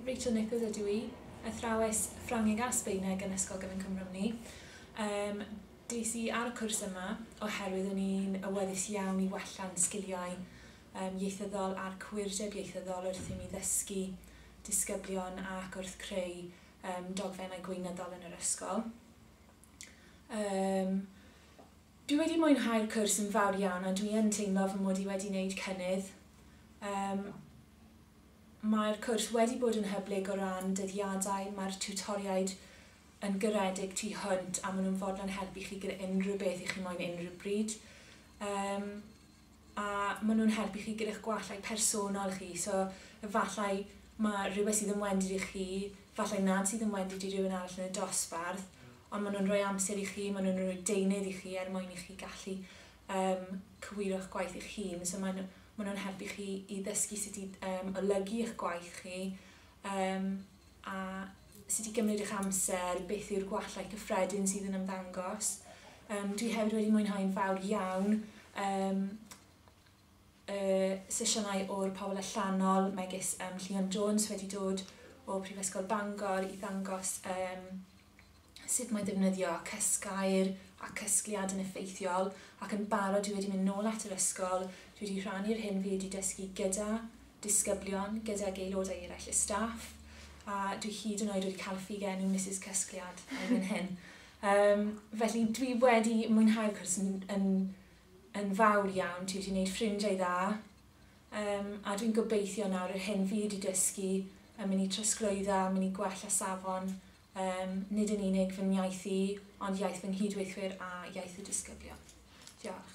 Rachel Nichols ydw i, athrawes Ffrangeg a Sbaeneg yn Ysgol Gyfun Cwm Rhymni. Des i ar y cwrs yma oherwydd o'n i'n awyddus iawn i wella'n sgiliau ieithyddol a'r cywirdeb ieithyddol wrth i mi ddysgu disgyblion ac wrth creu dogfennau gweinyddol yn yr ysgol. Dwi wedi mwynhau'r cwrs yn fawr iawn a dwi yn teimlo fy mod i wedi wneud cynnydd. Mae'r cwrs wedi bod yn hyblyg o ran dyddiadau, mae'r tiwtoriaid yn garedig tu hwnt a maen nhw'n fodlon helpu chi gyda unrhyw beth i chi moyn unrhyw bryd. A maen nhw'n helpu chi gyda'ch gwallau personol chi, so efallai mae rhywbeth sydd yn wendid i chi, efallai nad sydd yn wendid i rhywun arall yn y dosbarth, ond maen nhw'n rhoi amser i chi, maen nhw'n rhoi deunydd i chi er mwyn i chi gallu cywiro'ch gwaith eich hun. So maen nhw'n helpu chi i ddysgu sut i olygu eich gwaith chi a sut i gymryd eich amser, beth yw'r gwallau cyffredin sydd yn ymddangos. Dwi hefyd wedi mwynhau'n fawr iawn sesiynau o'r pobl allanol, megis Llion Jones wedi dod o Prifysgol Bangor i ddangos sut mae defnyddio cysgair a cysgliad yn effeithiol, ac yn barod dwi wedi mynd nôl at yr ysgol, dwi wedi rhannu'r hyn fi wedi dysgu gyda disgyblion, gydag aelodau eraill y staff, a dwi hyd yn oed wedi cael ffugenw Mrs Cysgliad erbyn hyn. Felly dwi wedi mwynhau'r cwrs yn fawr iawn, dwi wedi gwneud ffrindiau dda, a dwi'n gobeithio nawr yr hyn fi wedi dysgu yn mynd i trosglwyddo, yn mynd i gwella safon, nid yn unig fy iaith i, ond iaith fy nghydweithwyr a iaith y disgyblion. Diolch.